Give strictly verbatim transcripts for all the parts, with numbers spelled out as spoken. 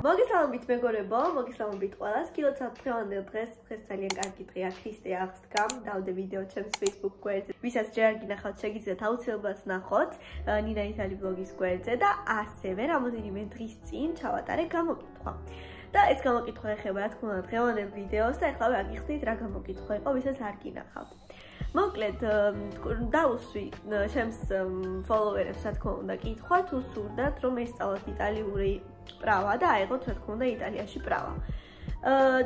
მოგესალმებით მეგობრებო, მოგესალმებით ყველას. გილოცავთ დღევანდელ დღეს, დღეს ძალიან კარგი დღეა, ქრისტე აღსდგამ. დავდე ვიდეო ჩემს Facebook გვერდზე. ვისაც ჯერ არ გინახავთ, შეგიძლიათ აუცილებლად ნახოთ ნინა ითალი ბლოგის გვერდზე და ასევე რამოდენიმე დღის წინ ჩავატარე გამოკითხვა. და ეს გამოკითხვა ეხება, რა თქმა უნდა, დღევანდელ ვიდეოს და ეხლა გაგიხსნით რა გამოკითხვა იყო, ვისაც არ გინახავთ. მოკლედ დაუსვი ჩემს ფოლოვერებს, რა თქმა უნდა, კითხვა თუ სურდათ რომ ესწავლოთ იტალიური პრავა და აიღოთ, რა თქმა უნდა, იტალიაში პრავა.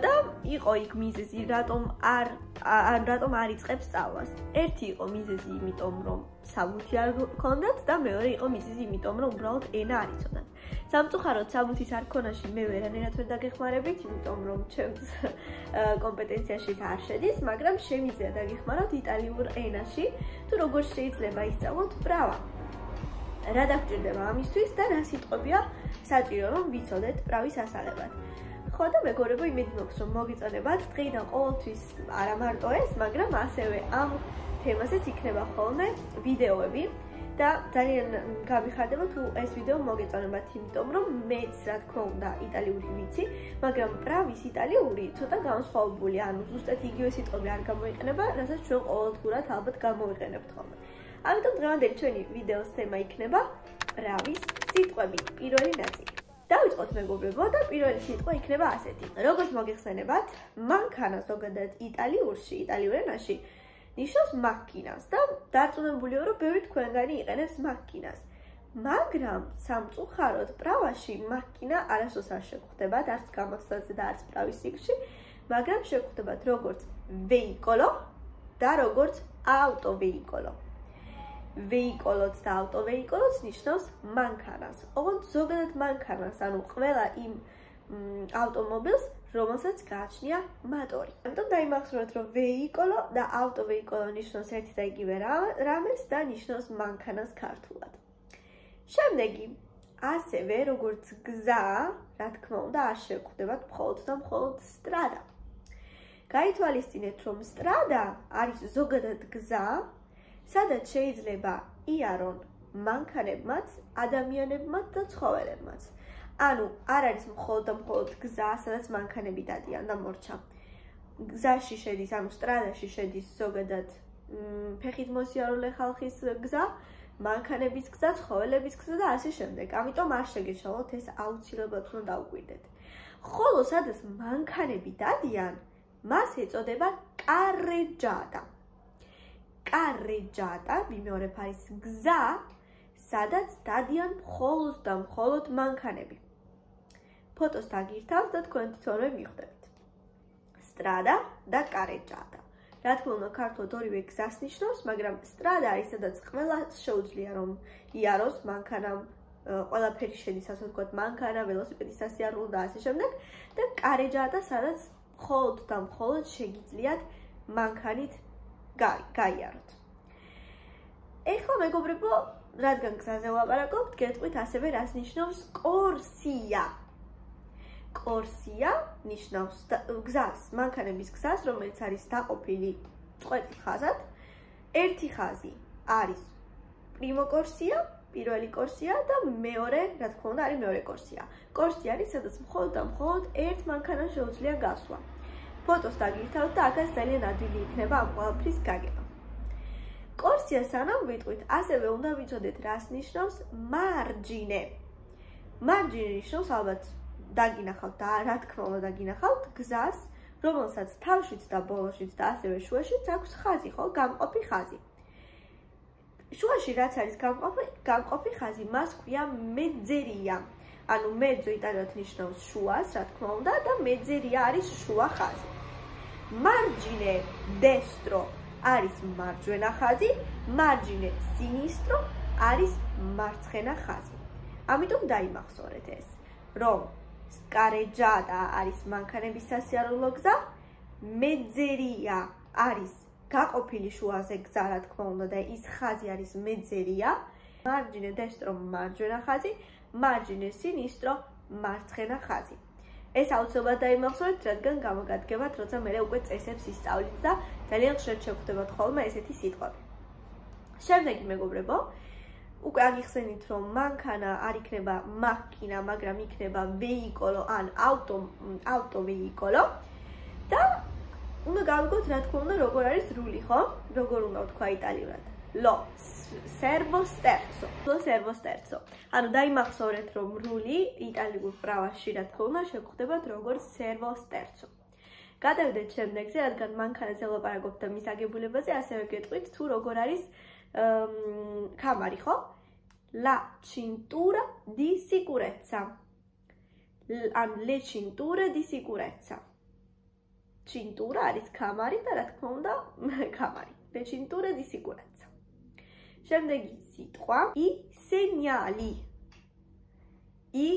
და იყო იქ მიზეზი, რატომ არ რატომ არ იწყებს სწავლას. ერთი იყო მიზეზი, იმიტომ რომ საბუთი არ გქონდათ და მეორე იყო მიზეზი, იმიტომ რომ უბრალოდ ენა არ იცოდათ. სამწუხაროდ საბუთის არ ქონაში მე ვერანაირად ვერ დაგეხმარებით, იმიტომ რომ ჩემს კომპეტენციაში არ შედის, მაგრამ შემიძლია დაგეხმაროთ იტალიურ ენაში, თუ როგორ შეიძლება ისწავლოთ პრავა. რა დაგჭირდება ამისთვის და რა სიტყვებია საჭირო რომ ვიცოდეთ პრავის ასაღებად. ხო და მეგობრებო, იმედი მაქვს რომ მოგიწონებათ დღეიდან ყოველთვის არა მარტო ეს, მაგრამ ასევე ამ თემასაც იქნება ხოლმე ვიდეოები და ძალიან გამიხარდება თუ ეს ვიდეო მოგეწონებათ, იმიტომ რომ მეც რა თქმა უნდა იტალიური ვიცი, მაგრამ პრავის იტალიური ცოტა განსხვავებული, ანუ ზუსტად იგივე სიტყვები არ გამოიყენება, რასაც ჩვენ ყოველდღურად ალბათ გამოვიყენებთ ხოლმე. ამიტომ დღევანდელი ჩვენი ვიდეოს თემა იქნება პრავის სიტყვები, პირველი ნაწილი. დავიწყოთ მეგობრებო და პირველი სიტყვა იქნება ასეთი. როგორც მოგეხსენებათ, მანქანა ზოგადად იტალიურში, იტალიურ ენაში ნიშნავს მაქინას და დარწმუნებულია რომ ბევრი თქვენგანი იყენებს მაქინას. მაგრამ სამწუხაროდ პრავაში მაქინა არასდროს არ შეგხვდებათ, არც გამოცდაზე და არც პრავის სიგში, მაგრამ შეგხვდებათ როგორც ვეიკოლო და როგორც ავტოვეიკოლო. ვეიკოლოც და ავტოვეიკოლოც ნიშნავს მანქანას. ოღონდ ზოგადად მანქანას, ანუ ყველა იმ ავტომობილს, რომელსაც გააჩნია მატორი. ამიტომ დაიმახსოვრეთ, რომ ვეიკოლო და ავტოვეიკოლო ნიშნავს ერთი და იგივე რამეს და ნიშნავს მანქანას ქართულად. შემდეგი, ასევე როგორც გზა, რა თქმა უნდა, არ შეგხვდებათ მხოლოდ და მხოლოდ სტრადა. გაითვალისწინეთ, რომ სტრადა არის ზოგადად გზა, სადაც შეიძლება იარონ მანქანებმაც, ადამიანებმაც და ცხოველებმაც. ანუ არ არის მხოლოდ და მხოლოდ გზა, სადაც მანქანები დადიან და მორჩა. გზაში შედის, ანუ სტრადაში შედის ზოგადად ფეხით მოსიარულე ხალხის გზა, მანქანების გზა, ცხოველების გზა და ასე შემდეგ. ამიტომ არ შეგეშალოთ, ეს აუცილებლად უნდა დაუკვირდეთ. ხოლო სადაც მანქანები დადიან, მას ეწოდება კარეჯადა. კარეჯადა, მიმეორებ არის გზა, სადაც დადიან მხოლოდ და მხოლოდ მანქანები. ფოტოს დაგირთავთ და თქვენ თვითონვე მიხვდებით. სტრადა და კარეჯადა. რა თქმა უნდა, ქართულად ორივე გზას ნიშნავს, მაგრამ სტრადა არის, სადაც ყველა შეუძლია რომ იაროს მანქანამ, ყველაფერი შედის, ასე ვთქვათ, მანქანა, ველოსიპედის სასიარულო და ასე შემდეგ და კარეჯადა, სადაც მხოლოდ და მხოლოდ შეგიძლიათ მანქანით გაიაროთ. ეხლა მეგობრებო, რადგან გზაზე ვლაპარაკობთ, გეტყვით ასევე რას ნიშნავს კორსია. კორსია ნიშნავს გზას, მანქანების გზას, რომელიც არის დაყოფილი წყვეტი ხაზად. ერთი ხაზი არის პრიმო კორსია, პირველი კორსია და მეორე, რა თქმა უნდა, არის მეორე კორსია. კორსია არის, სადაც მხოლოდ და მხოლოდ ერთ მანქანას შეუძლია გასვლა. ფოტოს დაგირთავთ და აქაც ძალიან ადვილი იქნება ამ ყველაფრის გაგება. კორსია სანამ ვიტყვით, ასევე უნდა ვიცოდეთ, რას ნიშნავს მარჯინე. მარჯინე ნიშნავს ალბათ დაგინახავთ და რა თქმა უნდა დაგინახავთ გზას, რომელსაც თავშიც და ბოლოშიც და ასევე შუაშიც აქვს ხაზი, ხო, გამყოფი ხაზი. შუაში რაც არის გამყოფი, გამყოფი ხაზი, მას ქვია მეძერია. ანუ მეძო იტალიურად ნიშნავს შუას, რა თქმა უნდა, და მეძერია არის შუა ხაზი. მარჯინე დესტრო არის მარჯვენა ხაზი, მარჯინე სინისტრო არის მარცხენა ხაზი. ამიტომ დაიმახსოვრეთ ეს, რომ კარეჯადა არის მანქანების სასიარულო გზა, მეძერია არის გაყოფილი შუაზე გზა, რა თქმა უნდა, და ის ხაზი არის მეძერია, მარჯინე დესტრო მარჯვენა ხაზი, მარჯინე სინისტრო მარცხენა ხაზი. ეს აუცილებლად დაიმახსოვრეთ, რადგან გამოგადგებათ, როცა მე უკვე წესებს ისწავლით და ძალიან ხშირად შეგხვდებათ ხოლმე ესეთი სიტყვები. შემდეგი მეგობრებო, უკვე აგიხსენით, რომ მანქანა არ იქნება მაქინა, მაგრამ იქნება ვეიკოლო ან ავტო ავტო ვეიკოლო და უნდა გავიგოთ, რა თქმა უნდა, როგორ არის რული, ხო? როგორ უნდა ვთქვა იტალიურად? Lo servo sterzo. Lo servo sterzo. ანუ დაიმახსოვრეთ, რომ რული იტალიურ პრავაში, რა თქმა უნდა, შეგხვდებათ როგორც servo sterzo. გადავიდეთ შემდეგზე, რადგან მანქანაზე ვლაპარაკობთ და მის აგებულებაზე, ასევე გეტყვით თუ როგორ არის კამარი, ხო? La cintura di sicurezza. An le cinture di sicurezza. Cintura არის კამარი და რა თქმა უნდა, კამარი. Le cinture di sicurezza. შემდეგი სიტყვა i segnali. I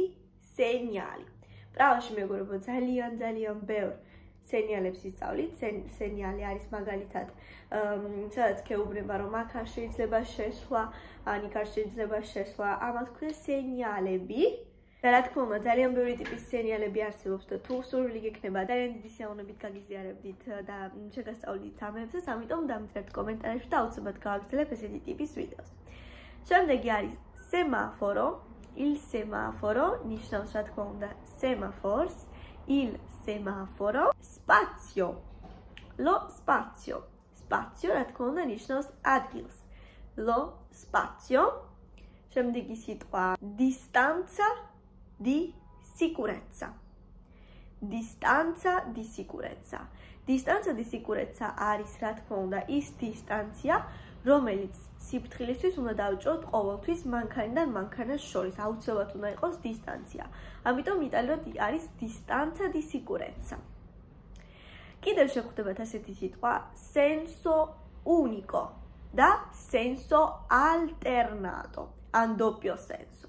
segnali. პრავაში მეგობრებო, ძალიან ძალიან ბევრ სენიალებს ისწავლით. სენიალი არის მაგალითად, სადაც გეუბნება, რომ აქ არ შეიძლება შესვლა, ან იქ არ შეიძლება შესვლა, ამას ქვია სენიალები. და რა თქმა უნდა, ძალიან ბევრი ტიპის სენიალები არსებობს და თუ სურვილი გექნება, ძალიან დიდი სიამოვნებით გაგიზიარებდით და შეგასწავლით ამებსაც, ამიტომ დამძლებთ კომენტარებში და აუცილებლად გავაგრძელებ ესეთი ტიპის ვიდეოს. შემდეგი არის semaforo. Il semaforo ნიშნავს, რა თქმა უნდა, semafors. Il semaforo. Spazio. Lo spazio. Spazio, რა თქმა უნდა, ნიშნავს ადგილს. Lo spazio. შემდეგი სიტყვა distanza di sicurezza. Distanza di sicurezza. Distanza di sicurezza არის, რა თქმა უნდა, ის დისტანცია, რომელიც სიფრთხილისთვის უნდა დავიჭროთ ყოველთვის მანქანიდან მანქანას შორის. აუცილებლად უნდა იყოს დისტანცია. ამიტომ იტალიურად არის distanza di sicurezza. კიდევ შეგხვდებათ ასეთი სიტყვა senso unico და senso alternato. An doppio senso.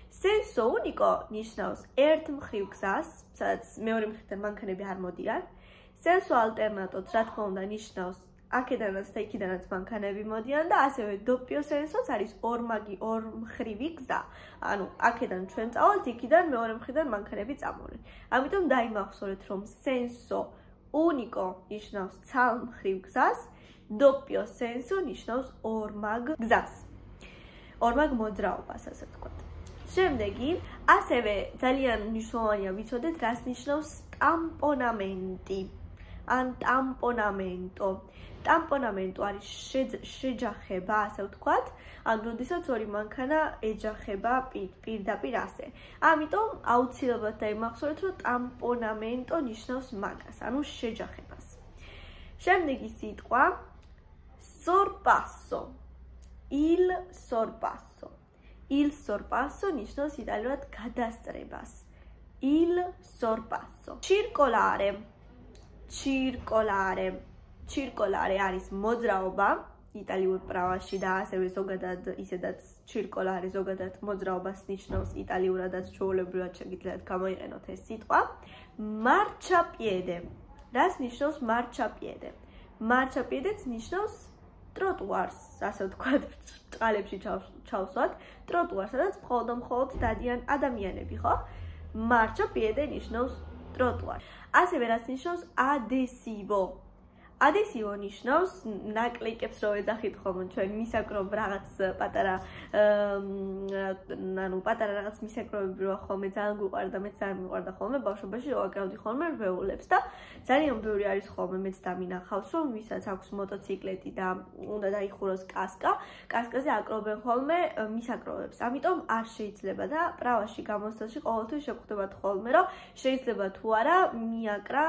Senso unico ნიშნავს ერთ მხრივ გზას, სადაც მეორე მხრიდან მანქანები არ მოდიან. Senso alternato, რა თქმა უნდა, ნიშნავს აქედანაც და იქიდანაც მანქანები მოდიან და ასევე doppio sensoც არის ორმაგი, ორმხრივი გზა. ანუ აქედან ჩვენ წავალთ, იქიდან მეორე მხრიდან მანქანები წამოვლენ. ამიტომ დაიმახსოვრეთ, რომ senso unico ნიშნავს ცალმხრივ გზას, doppio senso ნიშნავს ორმაგ გზას. ორმაგ მოძრაობას, ასე ვთქვათ. შემდეგი, ასევე ძალიან მნიშვნელოვანია ვიცოდეთ, რას ნიშნავს tamponamenti. An tamponamento. Tamponamento არის შეჯახება, ასე ვთქვათ, ან როდესაც ორი მანქანა ეჯახება პირდაპირ ასე. ამიტომ აუცილებლად დაიმახსოვრეთ, რომ tamponamento ნიშნავს მაგას, ანუ შეჯახებას. შემდეგი სიტყვა sorpasso. Il sorpasso. Il sorpasso ნიშნავს იტალიურად გადასწრებას. Il sorpasso. Circolare. Circolare. Circolare არის მოძრაობა იტალიურ პრავაში და ასევე ზოგადად ისედაც circolare ზოგადად მოძრაობას ნიშნავს იტალიურადაც ჩვეულებრივად შეგიძლიათ გამოიყენოთ ეს სიტყვა. Marciapiede. რას ნიშნავს marciapiede? Marciapiedეც ნიშნავს ტროტუარს, ასე ვთქვათ, წყალებში ჩავსვათ, ტროტუარს, სადაც მხოლოდ და მხოლოდ დადიან ადამიანები, ხო? Marciapiede ნიშნავს ტროტუარს. ასევე რაც ნიშნავს adesivo. Adesivo ნიშნავს ნაკლიკებს რო ეძახით ხოლმე ჩვენ მისაკრობ რაღაც პატარა ანუ პატარა რაღაც მისაკრობები რო ხოლმე ძალიან გვიყვარდა, მეც ძალიან მიყვარდა ხოლმე ბავშვობაში რო აკრავდი ხოლმე რვეულებს და ძალიან ბევრი არის ხოლმე მეც დამინახავს რომ ვისაც აქვს მოტოციკლეტი და უნდა დაიხუროს კასკა, კასკაზე აკრობენ ხოლმე მისაკრობებს. ამიტომ არ შეიძლება და პრავაში გამოსვლაში ყოველთვის შეგხვდებათ ხოლმე რომ შეიძლება თუ არა მიაკრა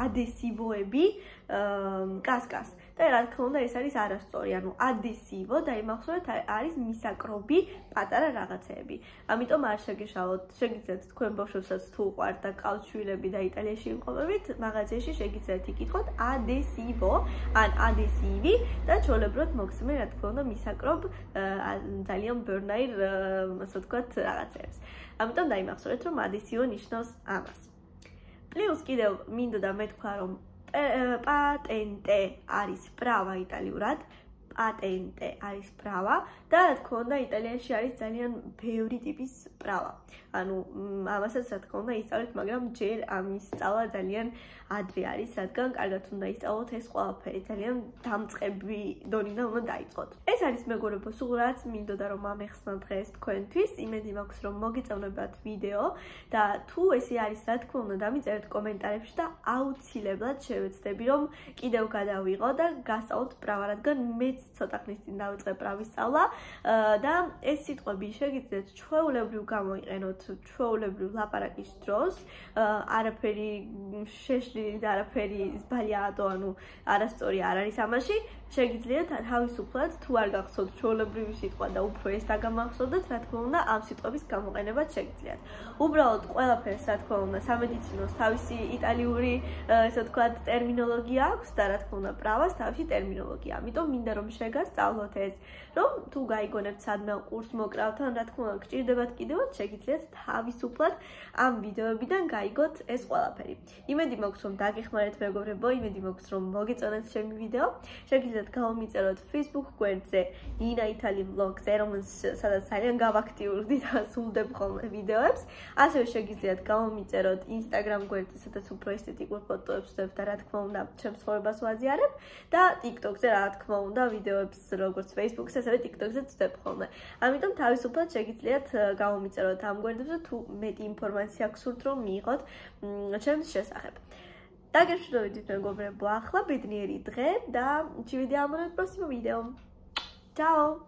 ადესივოები კასკას. და რა თქმა უნდა ეს არის არასწორი, ანუ adesivo დაიმახსოვრეთ არის მისაკრობი პატარა რაღაცეები. ამიტომ არ შეგეშალოთ, შეგიძლიათ თქვენ ბავშვებსაც თუ უყვართ და ყავთ შვილები და იტალიაში იმყოფებით, მაღაზიაში შეგიძლიათ იკითხოთ adesivo ან adesivi და ჩვეულებრივად მოგცემენ რა თქმა უნდა მისაკრობ ძალიან ბევრნაირ ასე ვთქვათ რაღაცეებს. ამიტომ დაიმახსოვრეთ რომ adesivo ნიშნავს ამას. პლუს კიდევ მინდოდა მეთქვა რომ patente არის პრავა იტალიურად, პატენტე არის ბრავა და რა თქმა უნდა იტალიაში არის ძალიან ბევრი ტიპის ბრავა. ანუ ამასაც რა თქმა უნდა ისწავლეთ, მაგრამ ჯერ ამის სწავლა ძალიან ადრე არის, რადგან კარგად უნდა ისწავლოთ ეს ყველაფერი, ძალიან დამწყები დონიდან უნდა დაიწყოთ. ეს არის მეგობრებო, სულ რაც მინდოდა რომ ამეხსნა დღეს თქვენთვის, იმედი მაქვს რომ მოგიწონებათ ვიდეო და თუ ესე არის, რა თქმა უნდა დამიწერეთ კომენტარებში და აუცილებლად შევეცდები რომ კიდევ გადავიღო და გასწავლოთ ბრავა, რადგან მეც ცოტა ხნის წინ დავიწყე ბრავის სწავლა და ეს სიტყვები შეგიძლიათ ჩვეულებრივ გამოიყენოთ ჩვეულებრივ ლაპარაკის დროს, არაფერი შეშლილი და არაფერი ბალიაადო, ანუ არასწორი არ არის ამაში. შეგიძლიათ თავისუფლად თუ არ გახსოვთ ჩვეულებრივი სიტყვა და უფრო ეს დაგამახსოვდეთ, რა თქმა უნდა, ამ სიტყვების გამოყენებაც შეგიძლიათ. უბრალოდ ყველაფერს, რა თქმა უნდა, სამედიცინოს თავისი იტალიური, ესე ვთქვათ, ტერმინოლოგია აქვს და რა თქმა უნდა, ბრავას თავისი ტერმინოლოგია. ამიტომ მინდა რომ შეგასწავლოთ ეს, რომ თუ გაიგონებთ სადმე კურსს მოკრავთ, ან რა თქმა უნდა, გჭირდებათ კიდევაც შეგიძლიათ თავისუფლად ამ ვიდეოებიდან გაიგოთ ეს ყველაფერი. იმედი მაქვს რომ დაგეხმარეთ მეგობრებო, იმედი მაქვს რომ მოგეწონათ ჩემი ვიდეო. შეგიძლიათ გამომიწეროთ Facebook გვერდზე Nina Italy Vlogs-ზე, სადაც ძალიან გავაქტიურდი და სულდებ ხოლმე ვიდეოებს. ასევე შეგიძლიათ გამომიწეროთ Instagram გვერდზე, სადაც უფრო ესთეტიკურ ფოტოებს ვსვევ და რა თქმა უნდა, ჩემს ცხოვრებას ვაზიარებ და TikTok-ზე რა თქმა უნდა, ვიდეოებს როგორც Facebook-ზე, ასევე TikTok-ზე ვსვევ ხოლმე. ამიტომ თავისუფლად შეგიძლიათ გამომიწეროთ ამ გვერდებზე, თუ მეტი ინფორმაცია გსურთ რომ მიიღოთ ჩემს შესახებ. დაგეშვიდობით მეგობრებო, ახლა ბედნიერი დღე და ჩივიდე ამ პროსიმო ვიდეო. Ciao!